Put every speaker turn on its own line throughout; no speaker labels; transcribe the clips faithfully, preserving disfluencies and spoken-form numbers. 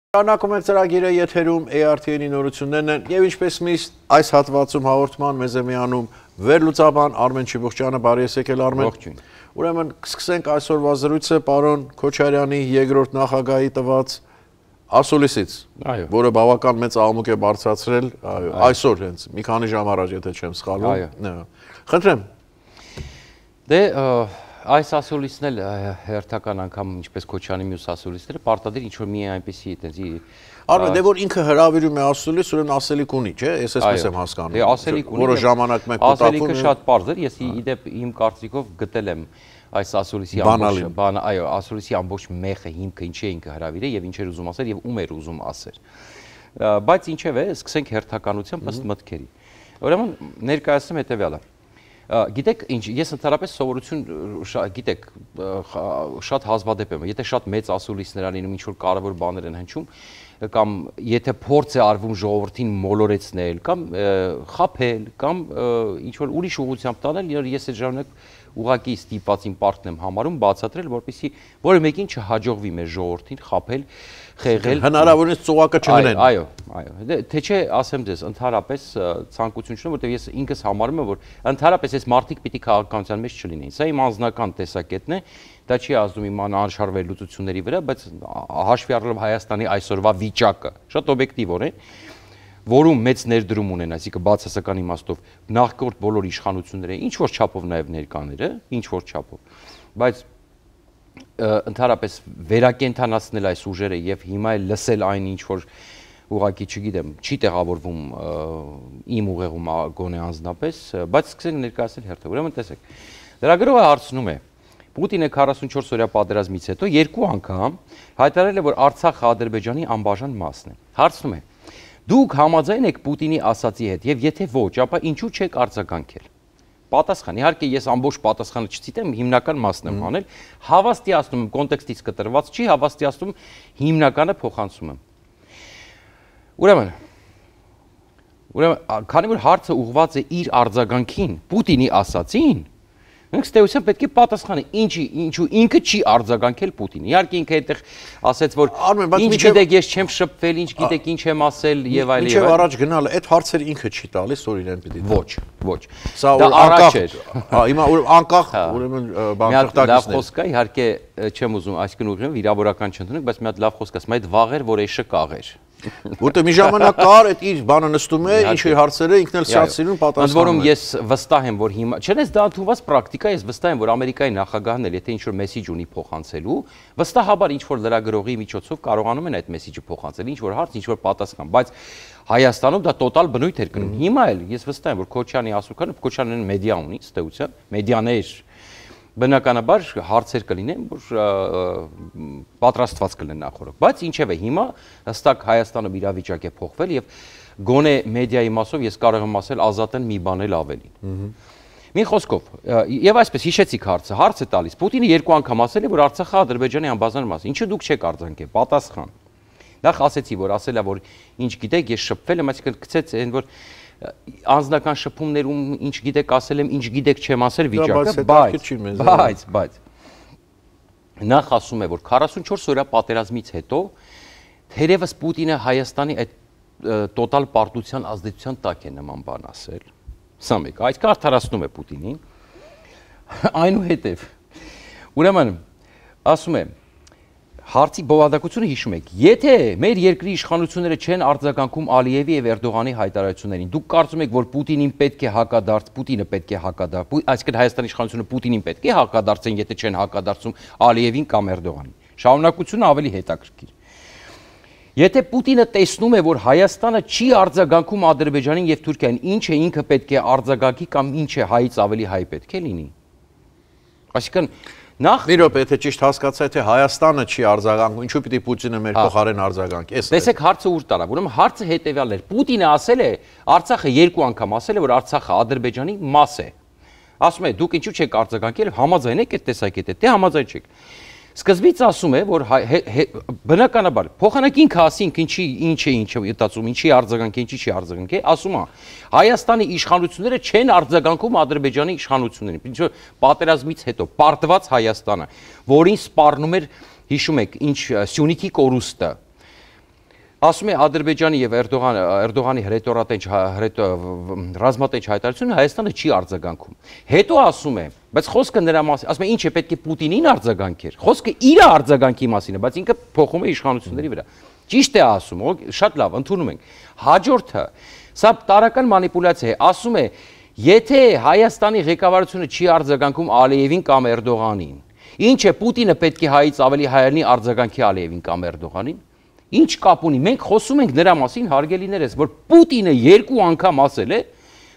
Շարունակում ենք ծրագիրը եթերում A R T N-ի նորություններն են եւ ինչպես միշտ այս հատվածում հաղորդման մեզ է միանում վերլուծաբան Արմեն Չիբուխճյանը, բարի եկել Արմեն։
Ողջույն։
Ուրեմն սկսենք այսօրվա զրույցը պարոն Քոչարյանի երկրորդ նախագահի տված ասուլիսից, որը բավական մեծ աղմուկ է բարձրացրել այսօր հենց մի քանի ժամ առաջ, եթե չեմ սխալվում։ Խնդրեմ։
Դե այս ասուլիսն էլ հերթական անգամ ինչպես Քոչյանի մյուս ասուլիսները պարտադիր ինչ որ մի այնպեսի այդպեսի
Արմեն, դե որ ինքը հրավիրում է ասուլիս, ուրեմն ասելիք ունի, չէ՞, ես այսպես եմ հասկանում։
Դե ասելիք ունի,
որը ժամանակ մեկ կտակվում։
Ասելիքը շատ պարզ էր, ես իդեպ իմ կարծիքով գտել եմ այս ասուլիսի ամբողջ բանը, այո, ասուլիսի ամբողջ մեխը, հիմքը, ինչի է ինքը հրավիրել եւ ինչ էր ուզում ասել եւ ում էր ուզում ասել։ Բայց ինչեւ է, սկսենք հերթականությամբ ըստ մտքերի։ Ուրեմն ներկայացնում հետեւյալը։ Գիտեք, ինչ, ես ընդհանրապես սովորություն, գիտեք, շատ հազվադեպ եմ, եթե շատ մեծ ասուլիսներ ալինում, ինչ-որ կարևոր բաներ են հնչում, կամ եթե փորձ է արվում ժողովրդին մոլորեցնել, կամ խաբել, կամ ինչ-որ ուրիշ ուղղությամբ տանել, ես այդ ժամանակ ուղղակի ստիպված իմ պարտքն եմ համարում բացատրել, որպեսզի որը մեկին չհաջողվի մեր ժողովրդին խաբել, խեղել,
հնարավորինս ծուղակը չգնեն։
Այո, այո, թե չէ, ասեմ ձեզ, ընդհանրապես ցանկություն չունեմ, որտեղ ես ինքս համարում եմ, որ ընդհանրապես այս մարդիկ պիտի քաղաքականության մեջ չլինեին։ Սա իմ անձնական տեսակետն է, դա չի ազդում իմ անհաշար լուծությունների վրա, բայց հաշվի առնելով Հայաստանի այսօրվա վիճակը, շատ օբյեկտիվորեն, որում մեծ ներդրում ունեն, այսինքն բացասական իմաստով նախկորդ բոլոր իշխանությունները, ինչ որ չափով նաև ներկաները, ինչ որ չափով, բայց ընդհանրապես վերակենդանացնել այս ուժերը եւ հիմա էլ լսել այն ինչ որ ուղղակի չգիտեմ, չի տեղավորվում իմ ուղեղում գոնե անձնապես, բայց սկսենք ներկայացնել հերթը։ Ուրեմն տեսեք, լրագրողը հարցնում է Պուտինը քառասունչորս օրյա պատերազմից հետո երկու անգամ հայտարարել է, որ Արցախը Ադրբեջանի անբաժան մասն է։ Հարցնում է. Դուք համաձայն եք Պուտինի ասացի հետ եւ եթե ոչ, ապա ինչու չեք արձագանքել։ Պատասխան, իհարկե ես ամբողջ պատասխանը չցիտեմ, հիմնական մասն եմ անել, հավաստիացնում եմ, կոնտեքստից կտրված չի, հավաստիացնում հիմնականը փոխանցում եմ։ Ուրեմն, ուրեմն, քանի որ հարցը ուղղված է իր արձագանքին, Պուտինի ասացին, մենք ստեյության պետք է պատասխանը, ինչի, ինչու ինքը չի արձագանքել Պուտինին։ Իհարկե ինքը այդտեղ ասեց, որ ինչ գիտեք, ես չեմ շփվել, ինչ գիտեք, ինչ եմ ասել եւ այլ եւ այլ։
Ինչեւ առաջ գնալը, այդ հարցերը ինքը չի տալիս, օրինակ պիտի։
Ոչ, ոչ։
Սա անկախ էր։ Հա, հիմա անկախ, ուրեմն բանկրտակիցն է։
Լավ խոսք է, իհարկե չեմ ուզում այսքան ուղղեմ վիրավորական չընդունենք, բայց մի հատ լավ խոսք ասեմ, այդ վաղեր, որ էշը կաղեր։
Որտե մի ժամանակ կար, այդ իր բանը նստում է, ինչ իր հարցերը ինքն էլ շատ սիրուն պատասխանում է։
Ընդ որում ես վստահ եմ, որ հիմա, չնայած դա ընդունված պրակտիկա, ես վստահ եմ, որ Ամերիկայի նախագահն էլ, եթե ինչ-որ մեսիջ ունի փոխանցելու, վստահաբար ինչ-որ լրագրողի միջոցով կարողանում են այդ մեսիջը փոխանցել, ինչ-որ հարց, ինչ-որ պատասխան, բայց Հայաստանում դա տոտալ բնույթ էր կնում։ Հիմա էլ ես վստահ եմ, որ Քոչյանի ասուլքանը, Քոչյանն մեդիա ունի, ըստեյության, մեդիաներ բնականաբար հարցեր կլինեն, որ պատրաստված կլինեն նախորդ, բայց ինչև է հիմա հստակ Հայաստանը իրավիճակ է փոխվել եւ գոնե մեդիայի մասով ես կարող եմ ասել ազատ են մի բան էլ ավելին։ Մի խոսքով, եւ այսպես հիշեցիք հարցը, հարց է տալիս Պուտինը երկու անգամ ասել է, որ Արցախը Ադրբեջանի անբաժան մաս է։ Ինչու դուք չեք արձագանքել։ Պատասխան։ Նախ ասեցի, որ ասելա, որ ինչ գիտեք, ես շփվել եմ, այսինքն գցեց այն, որ անձնական շփումներում ինչ գիտեք ասել եմ, ինչ գիտեք չեմ ասել վիճակը, բայց բայց բայց նախ ասում է, որ քառասունչորս օրյա պատերազմից հետո թերևս Պուտինը Հայաստանի այդ տոտալ պարտության ազդեցության տակ է նման բան ասել։ Սա մեկ, այդ կարդարացնում է Պուտինին։ Այնուհետև ուրեմն ասում է Հարցի բովանդակությունը հիշում եք, եթե մեր երկրի իշխանությունները չեն արձագանքում Ալիևի եւ Էրդողանի հայտարարություններին, դուք կարծում եք, որ Պուտինին պետք է հակադարձ, Պուտինը պետք է հակադարձ, այսինքն Հայաստանի իշխանությունը Պուտինին պետք է հակադարձեն, եթե չեն հակադարձում Ալիևին կամ Էրդողանին։ Շարունակությունը ավելի հետաքրքիր։ Եթե Պուտինը տեսնում է, որ Հայաստանը չի արձագանքում Ադրբեջանին եւ Թուրքիային, ինչ է ինքը պետք է արձագանքի կամ ինչ է հայից ավելի հայ պետք է լինի։ Այսինքն Նախ
մի րոպե, եթե ճիշտ հասկացա, թե Հայաստանը չի արձագանքում, ինչու պիտի Պուտինը մեր փոխարեն արձագանքի։
Տեսեք հարցը ուր տարավ։ Ուրեմն հարցը հետեւյալն էր։ Պուտինը ասել է, Արցախը երկու անգամ ասել է, որ Արցախը Ադրբեջանի մաս է։ Ասում է, դուք ինչու չեք արձագանքել, համաձայն եք այդ տեսակետը, թե համաձայն չեք։ Սկզբից ասում է, որ բնականաբար փոխանակ ինքը ասինք ինչի ինչ է ինչը յետացում, ինչի արձագանքի, ինչի չի արձագանքի, ասում է Հայաստանի իշխանությունները չեն արձագանքում Ադրբեջանի իշխանություններին։ Ինչու պատերազմից հետո պարտված Հայաստանը, որին սպառնում էր, հիշում եք, ինչ Սյունիքի կորուստը, Ասում է Ադրբեջանի եւ Էրդողանի հրետորատենչ ռազմատենչ հայտարարությունը Հայաստանը չի արձագանքում։ Հետո ասում է, բայց խոսքը նրա մասին, ասում է ինչ է պետք է Պուտինին արձագանքեր։ Խոսքը իր արձագանքի մասին է, բայց ինքը փոխում է իշխանությունների վրա։ Ճիշտ է ասում, շատ լավ, ընդունում ենք։ Հաջորդը, սա տարական մանիպուլյացիա է, ասում է, եթե Հայաստանի ղեկավարությունը չի արձագանքում Ալիևին կամ Էրդողանին, ինչ է Պուտինը պետք է հայից ավելի հայերնի արձագանքի Ալիևին կամ Էրդողանին։ Ինչ կապ ունի, մենք խոսում ենք նրա մասին, հարգելիներս, որ Պուտինը երկու անգամ ասել է,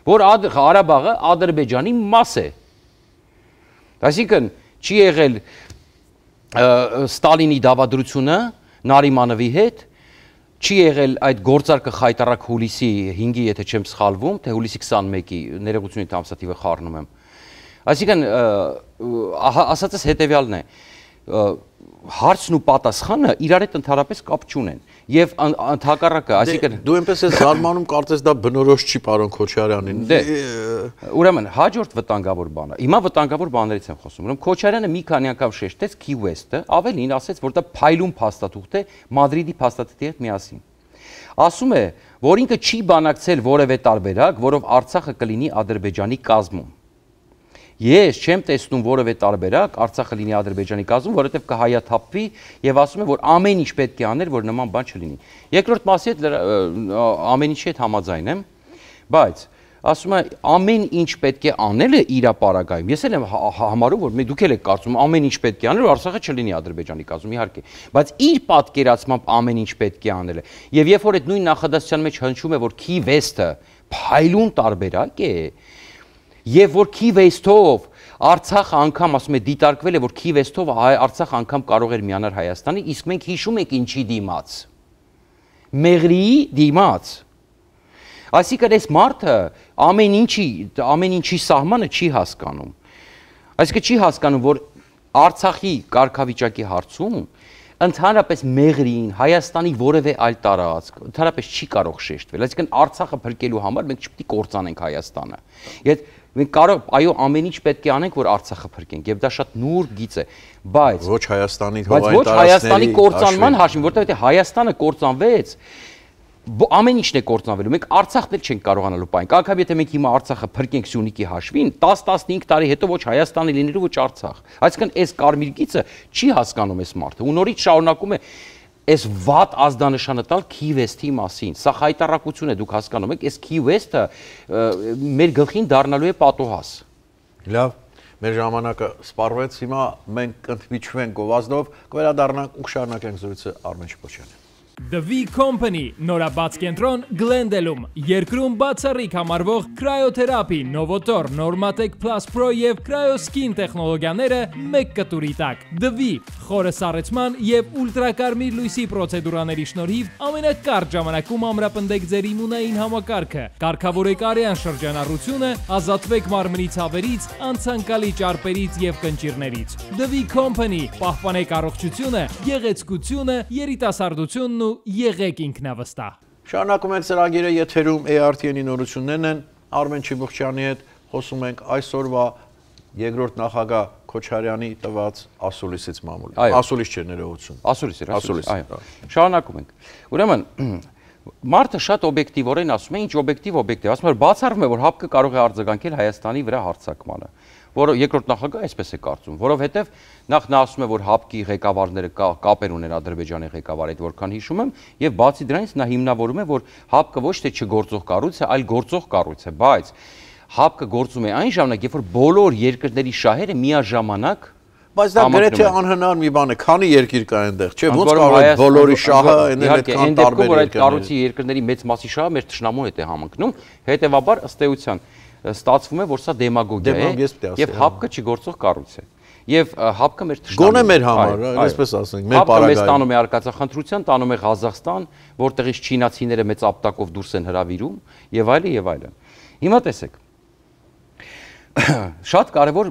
որ Ղարաբաղը Ադրբեջանի մաս է։ Այսինքն չի եղել Ստալինի դավադրությունը Նարիմանովի հետ, չի եղել այդ գործարքը խայտարակ հուլիսի հինգի, եթե չեմ սխալվում, թե հուլիսի քսանմեկի, ներողություն ամսաթիվը խառնում եմ։ Այսինքն ասածս հետևյալն է, հարցն ու պատասխանը իրար հետ ընդհանրապես կապ չունեն եւ ընդհակառակը, այսինքն
դու այնպես ես զարմանում, կարծես դա բնորոշ չի պարոն Քոչարյանին։
Ուրեմն հաջորդ վտանգավոր բանը, հիմա վտանգավոր բաներից եմ խոսում, ուրեմն Քոչարյանը մի քանի անգամ շեշտեց Key West-ը, ավելին ասեց, որ դա փայլուն փաստաթուղթ է Մադրիդի փաստաթղթի հետ միասին։ Ասում է, որ ինքը չի բանակցել որևէ տարբերակ, որով Արցախը կլինի Ադրբեջանի կազմում։ Ես չեմ տեսնում որևէ տարբերակ Արցախը լինի Ադրբեջանի կազմում, որովհետև կհայաթափվի եւ ասում է, որ ամեն ինչ պետք է անել, որ նման բան չլինի։ Երկրորդ մասի հետ ամեն ինչի հետ համաձայն եմ, բայց ասում է ամեն ինչ պետք է անելը իր ապարագայում։ Ես էլ եմ համարում, որ դուք էլ եք կարծում ամեն ինչ պետք է անել, որ Արցախը չլինի Ադրբեջանի կազմում, իհարկե, բայց իր պատկերացմամբ ամեն ինչ պետք է անելը։ Եվ երբ որ այդ նույն նախադասության մեջ հնչում է, որ Key West-ը փայլուն տարբերակ է, եւ որ Key West-ով Արցախը անգամ ասում է դիտարկվել է, որ Key West-ով Արցախը անգամ կարող էր միանալ Հայաստանի, իսկ մենք հիշում ենք ինչի դիմաց։ Մեղրիի դիմաց։ Այսինքն այս մարդը ամեն ինչի, ամեն ինչի սահմանը չի հասկանում։ Այսինքն չի հասկանում, որ Արցախի կարգավիճակի հարցում ընդհանրապես Մեղրիին, Հայաստանի որևէ այլ տարածք, ընդհանրապես չի կարող շեշտվել։ Այսինքն Արցախը փրկելու համար մենք չպետք է կործանենք Հայաստանը։ Եվ մենք կարող, այո, ամեն ինչ պետք է անենք, որ Արցախը փրկենք, եւ դա շատ նուրբ գիծ է, բայց
ոչ Հայաստանի
հողային տարածքների, ոչ Հայաստանի կործանման հաշվին, որտեղ եթե Հայաստանը կործանվեց, ամեն ինչն է կործանվելու։ Մենք Արցախն էլ չենք կարողանալու պահենք։ Անկամ եթե մենք հիմա Արցախը փրկենք Սյունիքի հաշվին, տաս տասնհինգ տարի հետո ոչ Հայաստանը լինելու, ոչ Արցախ։ Այսինքն այս կարմիր գիծը չի հասկանում այս մարդը։ Ու նորից շարունակում է այս վատ ազդանշանը տալ Key West-ի մասին։ Սա խայտարակություն է, դուք հասկանում եք, այս Key West-ը մեր գլխին դառնալու է պատոհաս։
Լավ, մեր ժամանակը սպառվեց, հիմա մենք կընդմիջվենք գովազդով, կվերադառնանք ու կշարունակենք զրույցը Արմեն Շիպոչյանի։
The V Company նորաբաց կենտրոն Գլենդելում երկրում բացառիկ համարվող Cryotherapi, Novotor, Normatec Plus Pro եւ Cryoskin տեխնոլոգիաները մեկ կտուրի տակ։ The V խորը սառեցման եւ ուլտրակարմիր լույսի պրոցեդուրաների շնորհիվ ամենակարճ ժամանակում ամրապնդեք ձեր իմունային համակարգը, կարգավորեք արյան շրջանառությունը, ազատվեք մարմնի ցավերից, անցանկալի ճարպերից եւ կնճիռներից։ The V Company պահպանեք առողջությունը, գեղեցկությունը, երիտասարդությունն ու եղեք ինքնավստահ։
Շարունակում ենք ծրագիրը, եթերում A R T N-ի նորություններն են, Արմեն Շիպոչյանի հետ խոսում ենք այսօրվա երկրորդ նախագահ Քոչարյանի տված ասուլիսից մամուլի։ Ասուլիս չէ, ներողություն։
Ասուլիս էր, ասուլիս, այո։ Շարունակում ենք։ Ուրեմն մարդը շատ օբյեկտիվորեն ասում է, ինչ օբյեկտիվ օբյեկտիվ, ասում է, բացառվում է, որ ՀԱՊԿ-ը կարող է արձագանքել Հայաստանի վրա հարձակմանը, որը երկրորդ նախագահը այսպես է կարծում, որովհետև նախ նա ասում է, որ ՀԱՊԿ-ի ղեկավարները կապեր ունեն Ադրբեջանի ղեկավարի հետ, որքան հիշում եմ, եւ բացի դրանից նա հիմնավորում է, որ ՀԱՊԿ-ը ոչ թե չգործող կառույց է, այլ գործող կառույց է, բայց ՀԱՊԿ-ը գործում է այն ժամանակ, երբ որ բոլոր երկրների շահերը միաժամանակ
Բայց դա գրեթե անհնար մի բան է, քանի երկիր կա այնտեղ, չէ՞, ոնց կարող է բոլորի շահը այնտեղ այդքան տարբեր
երկրներ։ Այդ կառույցի երկրների մեծ մասի շահը մեր թշնամու հետ է համընկնում, հետեւաբար ըստ էության ստացվում է, որ սա դեմագոգիա է եւ ՀԱՊԿ-ը չգործող կառույց է։ Եվ ՀԱՊԿ-ը մեր թշնամու
գոնե մեր համար, այսպես ասենք, մեր պարագայում։
ՀԱՊԿ-ը մեզ տանում է արկածախնդրության, տանում է Ղազախստան, որտեղից չինացիները մեծ ապտակով դուրս են հրավիրում եւ այլն եւ այլն։ Հիմա տեսեք, շատ կարևոր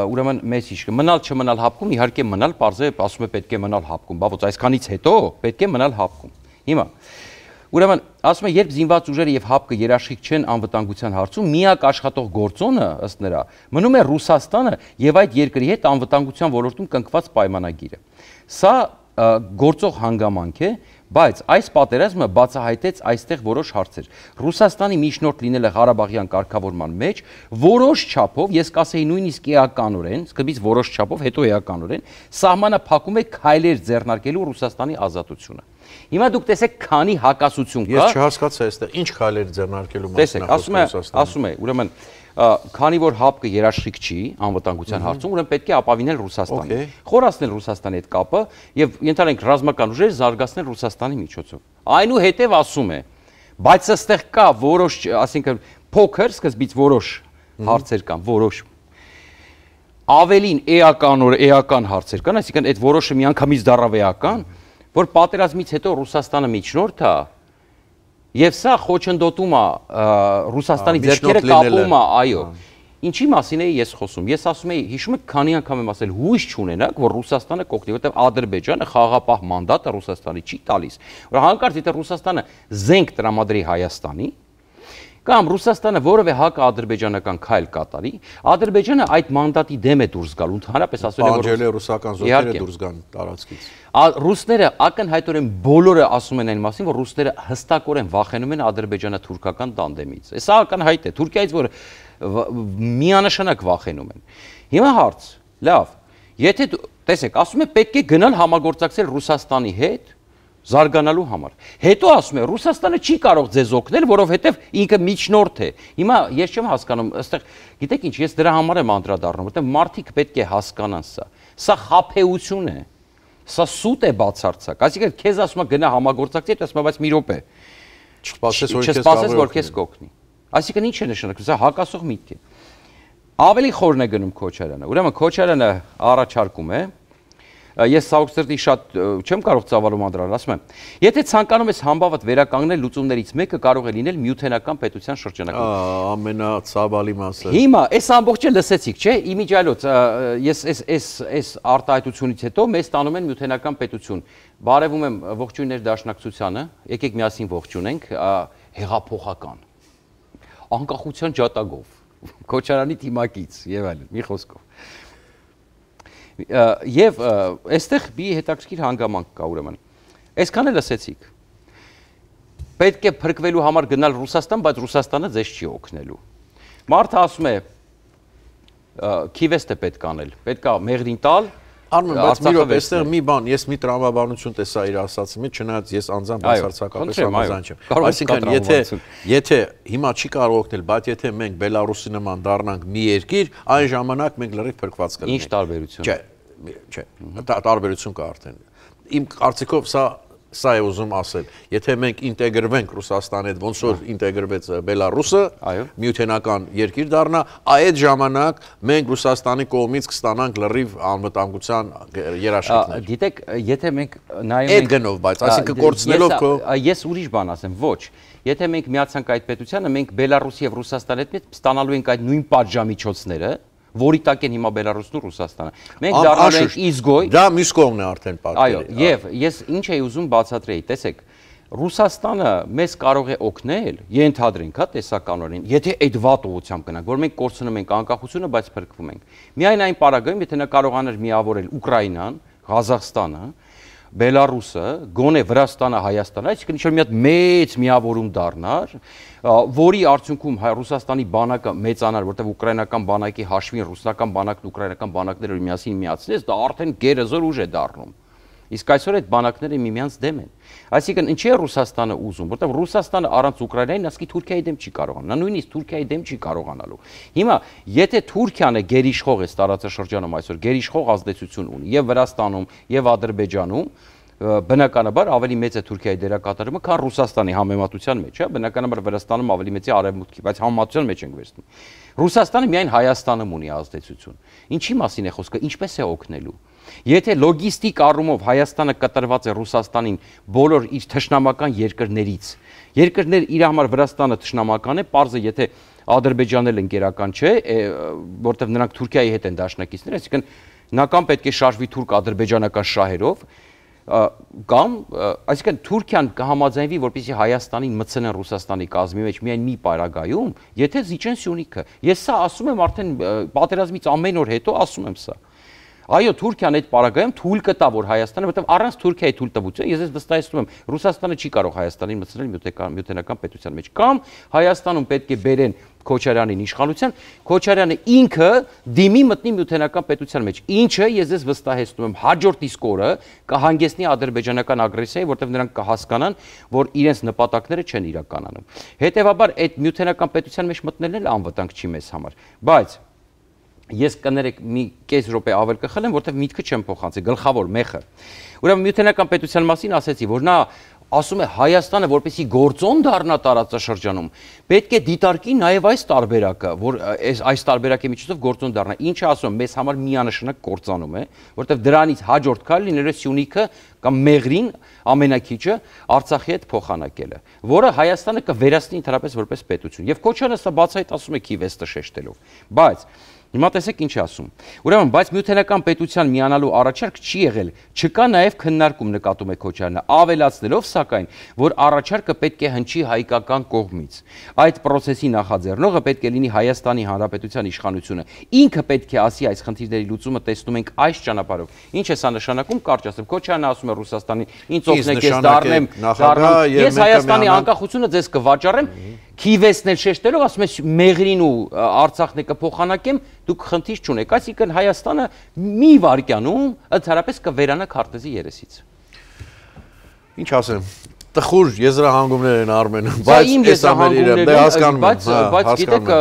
ուրեմն մեսիջ կը մնալ չմնալ ՀԱՊԿ-ում, իհարկե մնալ, պարզե ասում է պետք է մնալ ՀԱՊԿ-ում, բա ոչ այսքանից հետո պետք է մնալ ՀԱՊԿ-ում։ Հիմա ուրեմն ասում է, երբ զինված ուժերը եւ ՀԱՊԿ-ը երաշխիք չեն անվտանգության հարցում, միակ աշխատող գործոնը ըստ նրա մնում է Ռուսաստանը եւ այդ երկրի հետ անվտանգության ոլորտում կնքված պայմանագիրը։ Սա գործող հանգամանք է, Բայց այս պատերազմը բացահայտեց այստեղ որոշ հարցեր։ Ռուսաստանի միջնորդ լինելը Ղարաբաղյան կարգավորման մեջ որոշ չափով, ես կասեի նույնիսկ էականորեն, սկզբից որոշ չափով, հետո էականորեն, սահմանը փակում է քայլեր ձեռնարկելու Ռուսաստանի ազատությունը։ Հիմա դուք տեսեք, քանի հակասություն կա։
Ես չհասկացա այստեղ ինչ քայլեր ձեռնարկելու մասին
Ռուսաստանը։ Ասում է, ուրեմն քանի որ հապկը երաշխիք չի անվտանգության հարցում, ուրեմն պետք է ապավինել Ռուսաստանին, խորացնել Ռուսաստանի հետ կապը եւ ենթադրենք ռազմական ուժեր զարգացնել Ռուսաստանի միջոցով։ Այնուհետև ասում է, բայց ըստեղ կա որոշ, ասինքն փոքր, սկզբից որոշ հարցեր կան, որոշ ավելին էական օր էական հարցեր կան, այսինքն այդ որոշը միանգամից դառավ էական, որ պատերազմից հետո Ռուսաստանը միջնորդ է Եվ սա խոչընդոտում է Ռուսաստանի ձեռքերը կապում է, այո։ Ինչի մասին էի ես խոսում։ Ես ասում էի, հիշում եք, քանի անգամ եմ ասել, հույս չունենաք, որ Ռուսաստանը կօգնի, որտեղ Ադրբեջանը խաղաղապահ մանդատը Ռուսաստանի չի տալիս։ Որ հանկարծ եթե Ռուսաստանը զենք տրամադրի Հայաստանի, կամ Ռուսաստանը որևէ հակաադրբեջանական քայլ կատարի, Ադրբեջանը այդ մանդատի դեմ է դուրս գալ, ընդհանրապես ասել է, որ
պահանջել է ռուսական զորքերը դուրս գան տարածքից։
Ռուսները ակնհայտորեն բոլորը ասում են այն մասին, որ ռուսները հստակորեն վախենում են ադրբեջանա-թուրքական տանդեմից։ Սա ակնհայտ է, Թուրքիայից որ միանշանակ վախենում են։ Հիմա հարց, լավ, եթե տեսեք, ասում է պետք է գնալ համագործակցել Ռուսաստանի հետ զարգանալու համար։ Հետո ասում է Ռուսաստանը չի կարող ձեզ օգնել, որովհետև ինքը միջնորդ է։ Հիմա ես չեմ հասկանում, այստեղ գիտեք ինչ, ես դրա համար եմ անդրադառնում, որովհետև մարդիկ պետք է հասկանան սա։ Սա խաբեություն է։ Սա սուտ է բացարձակ։ Այսինքն քեզ ասում է գնա համագործակցի, ասում է բայց մի րոպե։ Չսպասես որ քեզ կօգնի։ Այսինքն ինչ է նշանակում, սա հակասող միտք է։ Ավելի խորն է գնում Քոչարյանը։ Ուրեմն Քոչարյանը առաջարկում է Ես Սաուքստրտի շատ չեմ կարող ծավալում անդրանալ, ասում եմ, եթե ցանկանում ես համբավդ վերականգնել լուծումներից մեկը կարող է լինել միութենական պետության շրջանակում։
Ամենացավալի մասը։
Հիմա այս ամբողջը լսեցիք, չէ՞, իմիջիալոց, ես այս այս այս արտահայտությունից հետո մեզ տանում են միութենական պետություն։ Բարևում եմ ողջույններ Դաշնակցությանը, եկեք միասին ողջունենք, հեղափոխական։ Անկախության ջատագով, Քոչարյանի թիմակից եւ այլն, մի խոսքով։ Եվ այստեղ մի հետաքրքիր հանգամանք կա ուրեմն։ Այսքանը լսեցիք։ Պետք է փրկվելու համար գնալ Ռուսաստան, բայց Ռուսաստանը ձեզ չի օգնելու։ Մարդը ասում է քիվեստ է պետք անել, պետք է մեղրին տալ։
Արմեն, բայց մի րոպե, այստեղ մի բան, ես մի տրամաբանություն տեսա իր ասածի մեջ, չնայած ես անձամբ բացարձակապես համաձայն չեմ։ Այսինքն, եթե եթե հիմա չի կարող օգնել, բայց եթե մենք Բելարուսի նման դառնանք մի երկիր, այն ժամանակ մենք լրիվ փրկված կլինենք։
Ինչ տարբերություն։
Չէ, չէ, տարբերություն կա արդեն։ Իմ կարծիքով սա Սա է ուզում ասել, եթե մենք ինտեգրվենք Ռուսաստանի հետ, ոնց որ ինտեգրվեց Բելարուսը, միութենական երկիր դառնա, այդ ժամանակ մենք Ռուսաստանի կողմից կստանանք լրիվ անվտանգության երաշխիքներ։
Գիտեք, եթե մենք նայում ենք
այդ գնով, բայց այսինքն կորցնելով քո
ես ուրիշ բան ասեմ, ոչ։ Եթե մենք միացանք այդ պետությանը, մենք Բելարուսի եւ Ռուսաստանի հետ ստանալու ենք այդ նույն պատժամիջոցները, որի տակ են հիմա Բելարուսն ու Ռուսաստանը։ Մենք դառնալու ենք իզգոյ։
Դա մյուս կողմն է արդեն պատկերը։
Այո, եւ ես ինչ էի ուզում բացատրեի, տեսեք, Ռուսաստանը մեզ կարող է օգնել, ենթադրենք, հա, տեսականորեն, եթե այդ վատ ուղղությամբ գնանք, որ մենք կորցնում ենք անկախությունը, բայց փրկվում ենք։ Միայն այն պարագայում, եթե նա կարողանար միավորել Ուկրաինան, Ղազախստանը, Բելարուսը, գոնե Վրաստանը, Հայաստանը, այսինքն ինչ-որ մի հատ մեծ միավորում դառնար, որի արդյունքում Ռուսաստանի բանակը մեծանար, որտեղ ուկրաինական բանակի հաշվին ռուսական բանակն ու ուկրաինական բանակները միասին միացնես, դա արդեն գերազոր ուժ է դառնում։ Իսկ այսօր այդ բանակները միմյանց դեմ են։ Այսինքն ինչի է Ռուսաստանը ուզում, որտեղ Ռուսաստանը առանց Ուկրաինային ասկի Թուրքիայի դեմ չի կարողանա, նա նույնիսկ Թուրքիայի դեմ չի կարողանալու։ Հիմա եթե Թուրքիան է գերիշխող այս տարածաշրջանում այսօր, գերիշխող ազդեցություն ունի եւ Վրաստանում, եւ Ադրբեջանում, բնականաբար ավելի մեծ է Թուրքիայի դերակատարումը, քան Ռուսաստանի համեմատության մեջ, հա, բնականաբար Վրաստանում ավելի մեծ է Արևմուտքի, բայց համեմատության մեջ ենք վերցնում։ Ռուսաստանը միայն Հայաստանում ունի ազդեցություն։ Ինչի մասին է խոսքը, ինչպես է օգնելու։ Եթե լոգիստիկ առումով Հայաստանը կտրված է Ռուսաստանին բոլոր իր թշնամական երկրներից, երկրներ իր համար Վրաստանը թշնամական է, պարզը եթե Ադրբեջանն էլ ընկերական չէ, որտեղ նրանք Թուրքիայի հետ են դաշնակիցներ, այսինքն նա կամ պետք է շարժվի թուրք-ադրբեջանական շահերով, կամ այսինքն Թուրքիան կհամաձայնվի, որպեսզի Հայաստանին մտցնեն Ռուսաստանի կազմի մեջ միայն մի պարագայում, եթե զիջեն Սյունիքը։ Ես սա ասում եմ արդեն պատերազմից ամեն օր հետո ասում եմ սա։ Այո, Թուրքիան այդ պարագայում թույլ կտա, որ Հայաստանը, որովհետև առանց Թուրքիայի թույլտվության, ես ես վստահեցնում եմ, Ռուսաստանը չի կարող Հայաստանին մտցնել միութենական պետության մեջ, կամ Հայաստանում պետք է բերեն Քոչարյանին իշխանության, Քոչարյանը ինքը դիմի մտնի միութենական պետության մեջ, ինչը ես ես վստահեցնում եմ հաջորդ իսկ օրը կհանգեցնի ադրբեջանական ագրեսիայի, որտեղ նրանք կհասկանան, որ իրենց նպատակները չեն իրականանում։ Հետևաբար այդ միութենական պետության մեջ մտնելն էլ անվտանգ չի մեզ համար, բայց ես կներեք մի կես րոպե ավել կխլեմ, որտեղ միտքը չեմ փոխանցի, գլխավոր մեխը։ Ուրեմն միութենական պետության մասին ասեցի, որ նա ասում է Հայաստանը որպեսզի գործոն դառնա տարածաշրջանում, պետք է դիտարկի նաև այս տարբերակը, որ այս այս տարբերակի միջոցով գործոն դառնա։ Ինչը ասում եմ, մեզ համար միանշանակ կործանում է, որտեղ դրանից հաջորդ քայլը լինելու է Սյունիքը կամ Մեղրին ամենակիչը Արցախի հետ փոխանակելը, որը Հայաստանը կվերացնի ընդհանրապես որպես պետություն։ Եվ Քոչարյանը սա բացահայտ ասում է Քիվեստը շեշտելով։ Բայց հիմա տեսեք ինչ ասում։ Ուրեմն, բայց միութենական պետության միանալու առաջարկ չի եղել, չկա նաև քննարկում նկատում է Քոչարյանը, ավելացնելով սակայն, որ առաջարկը պետք է հնչի հայկական կողմից։ Այդ process-ի նախաձեռնողը պետք է լինի Հայաստանի Հանրապետության իշխանությունը։ Ինքը պետք է ասի այս խնդիրների լուծումը տեսնում ենք այս ճանապարհով։ Ինչ է սա նշանակում, կարճ ասեմ, Քոչարյանը ասում է Ռուսաստանին, ինձ օգնեք ես դառնեմ, դառնամ, ես Հայաստանի անկախությունը ձեզ կվաճառեմ, Քիվեսն էլ շեշտելով ասում է Մեղրին ու Արցախն է կփոխանակեմ, դուք խնդիր չունեք, այսինքն Հայաստանը մի վայրկյանում ընդհանրապես կվերանա քարտեզի երեսից։
Ինչ ասեմ, տխուր եզրահանգումներ են Արմենը, բայց այս ամենը դե հասկանում եմ,
բայց բայց գիտեք,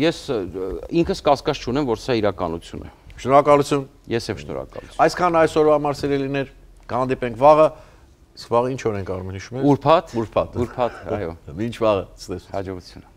ես ինքս կասկած չունեմ, որ սա իրականություն է։
Շնորհակալություն։
Ես եմ շնորհակալ։
Այսքան այսօրվա համար սիրելիներ, կհանդիպենք վաղը։ Վաղը ինչ օր ենք Արմեն հիշում ես։
Ուրբաթ։
Ուրբաթ։
Ուրբաթ, այո։
Մինչ վաղը, ցտեսություն։
Հաջողություն։